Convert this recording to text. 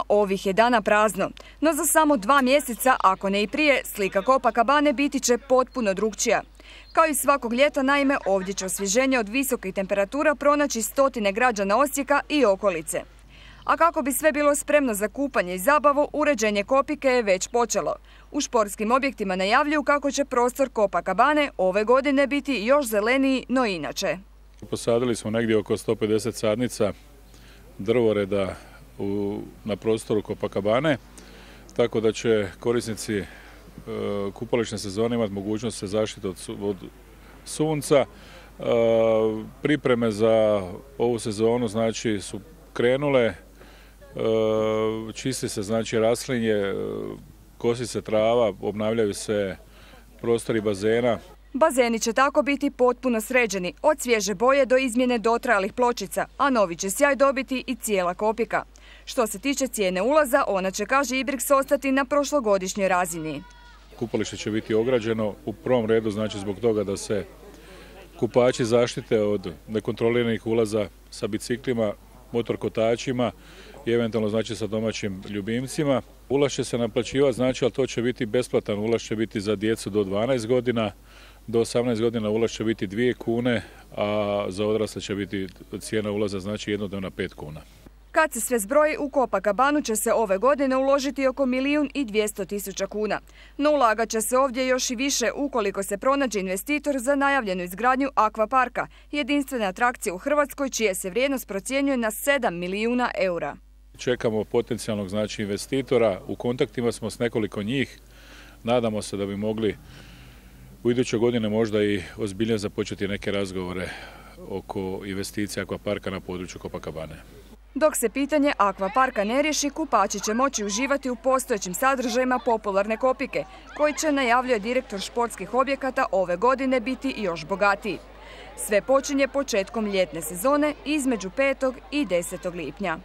Ovih je dana prazno, no za samo 2 mjeseca, ako ne i prije, slika Copacabane biti će potpuno drukčija. Kao i svakog ljeta, naime, ovdje će osvježenje od visokih temperatura pronaći stotine građana Osijeka i okolice. A kako bi sve bilo spremno za kupanje i zabavu, uređenje Kopike je već počelo. U športskim objektima najavljuju kako će prostor Copacabane ove godine biti još zeleniji, no inače. Posadili smo negdje oko 150 sadnica drvoreda na prostoru Copacabane, tako da će korisnici kupališne sezone imati mogućnost se zaštiti od sunca. Pripreme za ovu sezonu znači su krenule, čisti se znači raslinje, kosi se trava, obnavljaju se prostori bazena. Bazeni će tako biti potpuno sređeni, od svježe boje do izmjene dotrajalih pločica, a novi će sjaj dobiti i cijela Kopika. Što se tiče cijene ulaza, ona će, kaže Ibrix, ostati na prošlogodišnjoj razini. Kupalište će biti ograđeno u prvom redu, znači zbog toga da se kupači zaštite od nekontroliranih ulaza sa biciklima, motorkotačima i eventualno znači sa domaćim ljubimcima. Ulaz će se naplaćivati, znači, ali to će biti besplatan. Ulaz će biti za djecu do 12 godina, do 18 godina ulaz će biti 2 kune, a za odrasle će biti cijena ulaza znači jednodnevna 5 kuna. Kad se sve zbroji, u Copacabanu će se ove godine uložiti oko 1.200.000 kuna. No ulagat će se ovdje još i više ukoliko se pronađe investitor za najavljenu izgradnju akvaparka, jedinstvene atrakcije u Hrvatskoj čija se vrijednost procjenjuje na 7 milijuna eura. Čekamo potencijalnog znači investitora, u kontaktima smo s nekoliko njih, nadamo se da bi mogli u idućoj godine možda i ozbiljnije započeti neke razgovore oko investicija akvaparka na području Copacabane. Dok se pitanje akvaparka ne riješi, kupači će moći uživati u postojećim sadržajima popularne Kopike, koji će, najavljuje direktor športskih objekata, ove godine biti još bogatiji. Sve počinje početkom ljetne sezone između 5. i 10. lipnja.